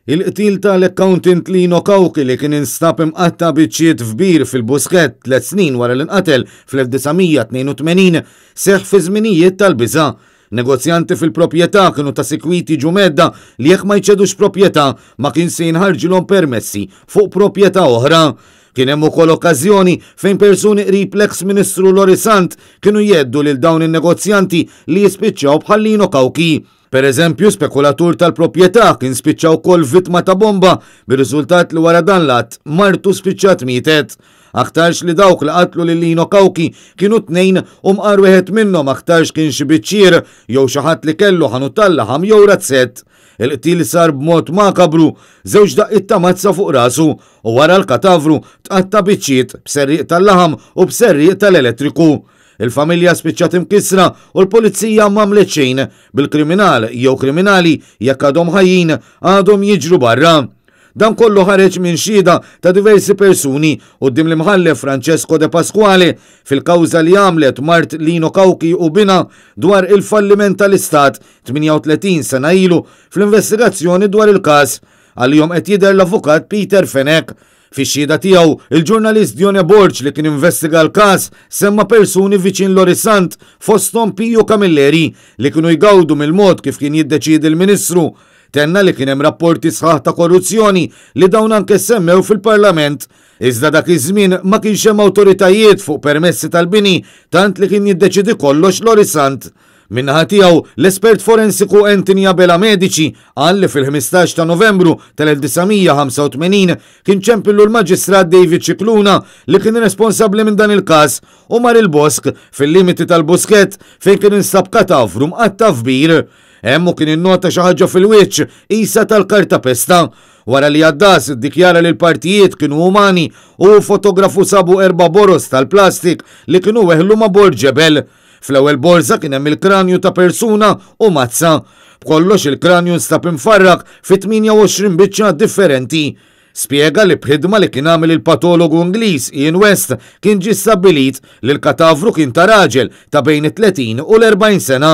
Il-qtil tal-accountant Lino Cauchi li kien instab imqatta' biċċiet f'bir fil-Buskett tliet snin wara li nqatel fl-1982 seħħ fi żminijiet tal-biża'. Negozjanti fil-proprjetà kienu ta' sikwit jiġu mhedda li jekk ma jċedux proprjetà ma kien se jinħarġilhom permessi fuq proprjetà oħra. Kien hemm ukoll okkażjoni fejn persuni qrib l-eks Ministru Lorry Sant kienu jheddu lil dawn in-negozjanti li jispiċċaw bħal Lino Cauchi. Per eżempju, spekulatur tal-proprjetà kien spiċċa wkoll vittma ta' bomba bir-riżultat li wara dan l-att martu spiċċat mietet. Aktarx li dawk li qatlu lil Lino Cauchi kienu tnejn u mqar wieħed minnhom aktarx kien xi biċċier jew xi ħadd li kellu ħanut tal-laħam jew razzett. Il-qtil sar b'mod makabru, żewġ daqqiet ta' mazza fuq rasu u wara l-katavru tqatta' biċċiet b'serrieq tal-laħam u b'serrieq tal-elettriku. Il-familja spiċċat imkissra u l-pulizija m'għamlet xejn bil-kriminal jew kriminali jekk għadhom ħajjin għadhom jiġru barra. Dan kollu ħareġ minn xhieda ta' diversi persuni quddiem l-Imħallef Francesco De Pasquale fil-kawża li għamlet mart Lino Cauchi u binha dwar il-falliment tal-Istat 38 sena ilu fl-investigazzjoni dwar il-każ. Għalihom qed jidher l-Avukat Peter Fenech. Fix-xhieda tiegħu, il-ġurnalist Dione Borg li kien investiga l-każ semma persuni viċin Lorry Sant fosthom Piju Camilleri li kienu jgawdu mill-mod kif kien jiddeċiedi l-Ministru. Tenna li kien hemm rapporti sħaħ ta' korruzzjoni li dawn anke ssemmew fil-Parlament. Iżda dak iż-żmien ma kienx hemm awtoritajiet fuq permessi tal-bini tant li kien jiddeċiedi kollox Lorry Sant. Min-naħa tiegħu, l-espert forensiku Anthony Abela Medici qal li fil-15 ta' Novembru tal-1985 kien ċempillu l-Maġistrat David Scicluna li kien responsabbli minn dan il-każ u mar il-bosk fil-limiti tal-Buskett fejn kien instab katavru mqatta' f'bir. Hemm hu kien innota xi ħaġa fil-wiċċ qisha tal-kartapesta. Wara li għaddas iddikjara li l-partijiet kienu umani u fotografu sabu erba' boroż tal-plastik li kienu weħlu ma' bord ġebel. Fl-ewwel borża kien hemm il-kranju ta' persuna u mazza. B'kollox il-kranju nstab imfarrak fi 28 biċċa differenti. Spjega li b'ħidma li kien għamel il-patologu Ingliż Ian West kien ġie stabbilit li l-katavru kien ta' raġel ta' bejn it-30 u l-40 sena.